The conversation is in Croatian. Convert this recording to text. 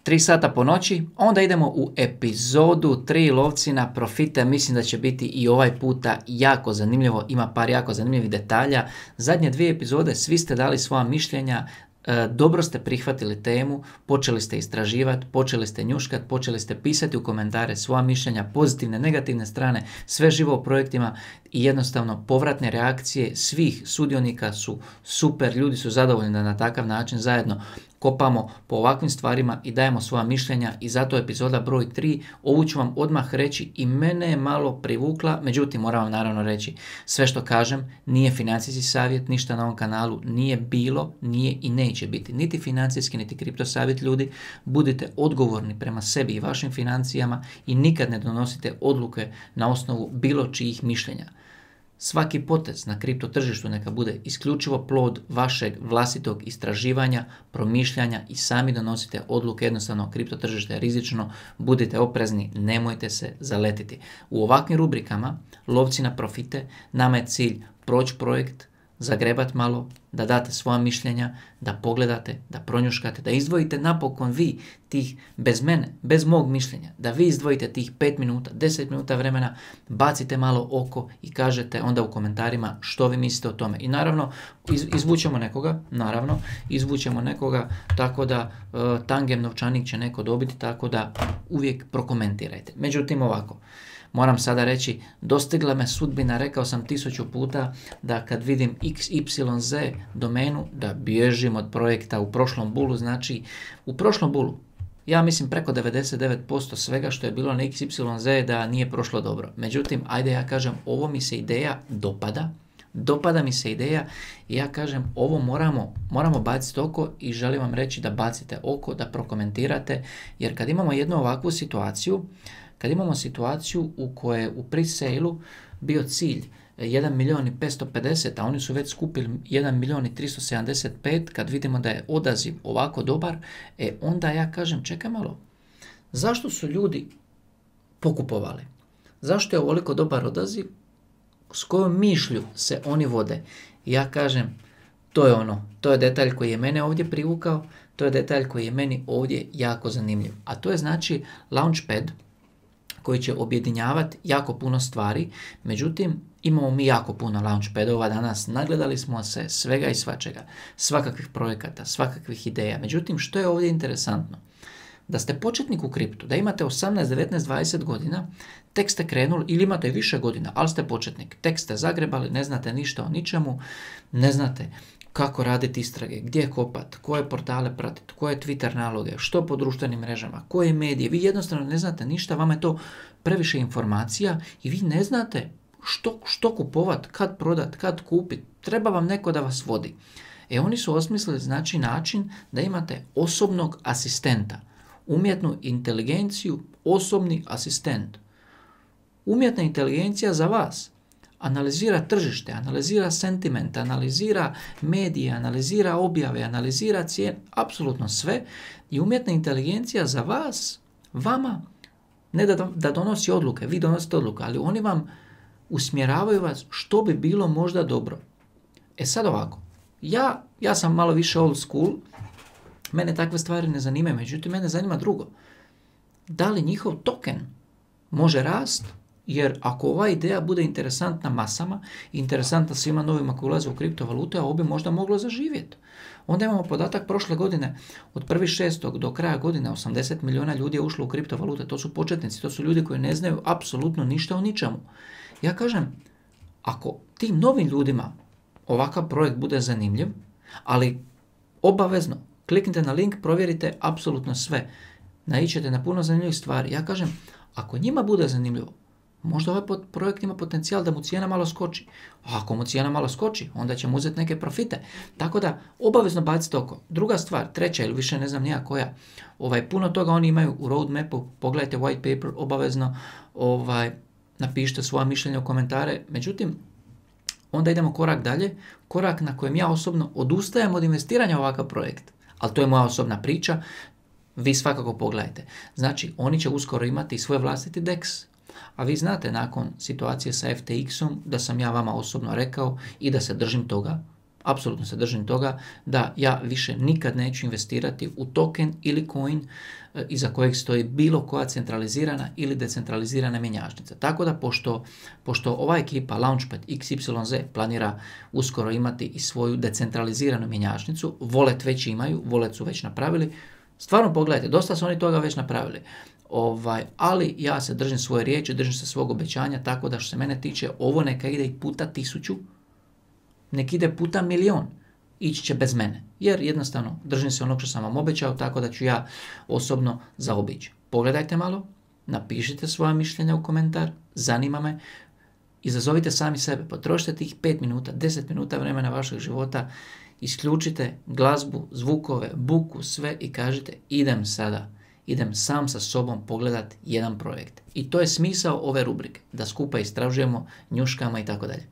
3 sata po noći, onda idemo u epizodu 3 lovci na profite. Mislim da će biti i ovaj puta jako zanimljivo, ima par jako zanimljivih detalja. Zadnje 2 epizode svi ste dali svoja mišljenja, dobro ste prihvatili temu, počeli ste istraživati, počeli ste njuškati, počeli ste pisati u komentare svoja mišljenja, pozitivne, negativne strane, sve živo o projektima i jednostavno povratne reakcije svih sudionika su super, ljudi su zadovoljni da na takav način zajedno kopamo po ovakvim stvarima i dajemo svoja mišljenja i zato epizoda broj 3, ovu ću vam odmah reći i mene je malo privukla, međutim moram vam naravno reći, sve što kažem nije financijski savjet, ništa na ovom kanalu nije bilo, nije i neće biti, niti financijski, niti kripto savjet ljudi, budite odgovorni prema sebi i vašim financijama i nikad ne donosite odluke na osnovu bilo čijih mišljenja. Svaki potez na kripto tržištu neka bude isključivo plod vašeg vlastitog istraživanja, promišljanja i sami donosite odluke. Jednostavno, kripto tržište je rizično, budite oprezni, nemojte se zaletiti. U ovakvim rubrikama, lovci na profite, nama je cilj proći projekt, zagrebat malo, da date svoja mišljenja, da pogledate, da pronjuškate, da izdvojite napokon vi tih, bez mene, bez mog mišljenja, da vi izdvojite tih 5 minuta, 10 minuta vremena, bacite malo oko i kažete onda u komentarima što vi mislite o tome. I naravno, izvučemo nekoga, tako da tangem novčanik će neko dobiti, tako da uvijek prokomentirajte. Međutim, ovako, moram sada reći, dostigla me sudbina, rekao sam 1000 puta da kad vidim XYZ domenu, da bježim od projekta u prošlom bulu. Znači, u prošlom bulu, ja mislim preko 99% svega što je bilo na XYZ da nije prošlo dobro. Međutim, ajde ja kažem, ovo mi se ideja dopada mi se ideja i ja kažem, ovo moramo baciti oko i želim vam reći da bacite oko, da prokomentirate, jer kad imamo jednu ovakvu situaciju, kad imamo situaciju u kojoj je u pre-sale-u bio cilj 1.550.000, a oni su već skupili 1.375.000, kad vidimo da je odaziv ovako dobar, onda ja kažem, čekaj malo, zašto su ljudi pokupovali? Zašto je ovoliko dobar odaziv? S kojom mišlju se oni vode? Ja kažem, to je detalj koji je mene ovdje privukao, to je detalj koji je meni ovdje jako zanimljiv. A to je znači Launchpad, koji će objedinjavati jako puno stvari, međutim imamo mi jako puno launchpadova danas, nagledali smo se svega i svačega, svakakvih projekata, svakakvih ideja. Međutim, što je ovdje interesantno? Da ste početnik u kriptu, da imate 18, 19, 20 godina, tek ste krenuli ili imate više godina, ali ste početnik, tek ste zagrebali, ne znate ništa o ničemu, ne znate kako raditi istrage, gdje kopati, koje portale pratiti, koje Twitter naloge, što po društvenim mrežama, koje medije. Vi jednostavno ne znate ništa, vama je to previše informacija i vi ne znate što kupovati, kad prodati, kad kupiti. Treba vam neko da vas vodi. Oni su osmislili znači način da imate osobnog asistenta, umjetnu inteligenciju, osobni asistent. Umjetna inteligencija za vas analizira tržište, analizira sentiment, analizira medije, analizira objave, analizira cijene, apsolutno sve. I umjetna inteligencija za vas, vama, ne da donosi odluke, vi donosite odluke, ali oni vam usmjeravaju vas što bi bilo možda dobro. Sad ovako, ja sam malo više old school, mene takve stvari ne zanimaju, međutim mene zanima drugo. Da li njihov token može rast? Jer ako ova ideja bude interesantna masama, interesantna svima novima koji ulaze u kriptovalute, ovo bi možda moglo zaživjeti. Onda imamo podatak prošle godine, od 1.6. do kraja godine 80 milijuna ljudi je ušlo u kriptovalute. To su početnici, to su ljudi koji ne znaju apsolutno ništa o ničemu. Ja kažem, ako tim novim ljudima ovakav projekt bude zanimljiv, ali obavezno kliknite na link, provjerite apsolutno sve. Naićete na puno zanimljivih stvari. Ja kažem, ako njima bude zanimljivo, možda ovaj projekt ima potencijal da mu cijena malo skoči. A ako mu cijena malo skoči, onda će mu uzeti neke profite. Tako da, obavezno bacite oko. Druga stvar, treća ili više ne znam nija koja, puno toga oni imaju u roadmapu, pogledajte white paper, obavezno napišite svoja mišljenja u komentare. Međutim, onda idemo korak dalje, korak na kojem ja osobno odustajem od investiranja u ovakav projekt. Ali to je moja osobna priča, vi svakako pogledajte. Znači, oni će uskoro imati svoj vlastiti DEX. A vi znate nakon situacije sa FTX-om da sam ja vama osobno rekao i da se držim toga, apsolutno se držim toga da ja više nikad neću investirati u token ili coin iza kojeg stoji bilo koja centralizirana ili decentralizirana mjenjačnica. Tako da pošto ova ekipa Launchpad XYZ planira uskoro imati i svoju decentraliziranu mjenjačnicu, Wallet već imaju, Wallet su već napravili, stvarno pogledajte, dosta su oni toga već napravili. Ali ja se držim svoje riječi, držim se svog obećanja, tako da što se mene tiče, ovo neka ide i puta 1000, nek ide puta 1.000.000, ići će bez mene. Jer jednostavno držim se onog što sam vam obećao, tako da ću ja osobno zaobići. Pogledajte malo, napišite svoja mišljenja u komentar, zanima me, izazovite sami sebe, potrošite tih 5 minuta, 10 minuta vremena vašeg života, isključite glazbu, zvukove, buku, sve i kažite idem sam sa sobom pogledati jedan projekt. I to je smisao ove rubrike, da skupa istražujemo, njuškama i tako dalje.